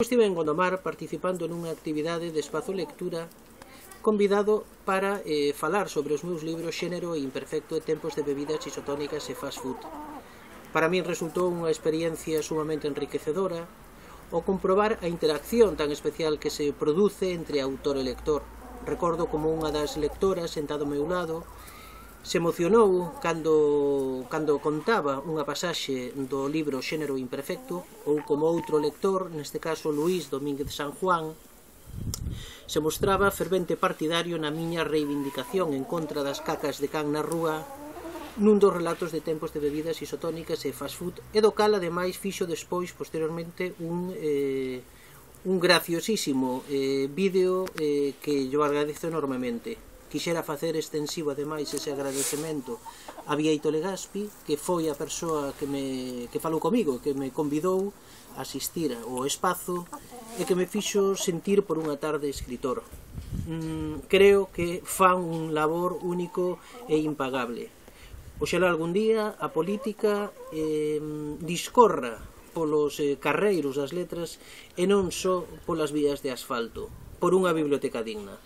estive en Gondomar participando nunha actividade de espazo lectura convidado para falar sobre os meus libros Xénero imperfecto e Tempos de bebidas isotónicas e fast food. Para min resultou unha experiencia sumamente enriquecedora o comprobar a interacción tan especial que se produce entre autor e lector. Recordo como unha das lectoras sentada ao meu lado se emocionou cando contaba unha pasaxe do libro Xénero imperfecto, ou como outro lector, neste caso Luís Domínguez San Juan, se mostraba fervente partidario na miña reivindicación en contra das cacas de can na rúa nun dos relatos de Tempos de bebidas isotónicas e fast food, e do cal ademais fixo despois posteriormente un graciosísimo vídeo que yo agradezo enormemente. Quixera facer extensivo ademais ese agradecemento a Bieito Legaspi, que foi a persoa que falou comigo, que me convidou a asistir ao espazo e que me fixo sentir por unha tarde escritor. Creo que fan un labor único e impagable. Oxalá algún día a política discorra polos carreiros das letras e non só polas vías de asfalto, por unha biblioteca digna.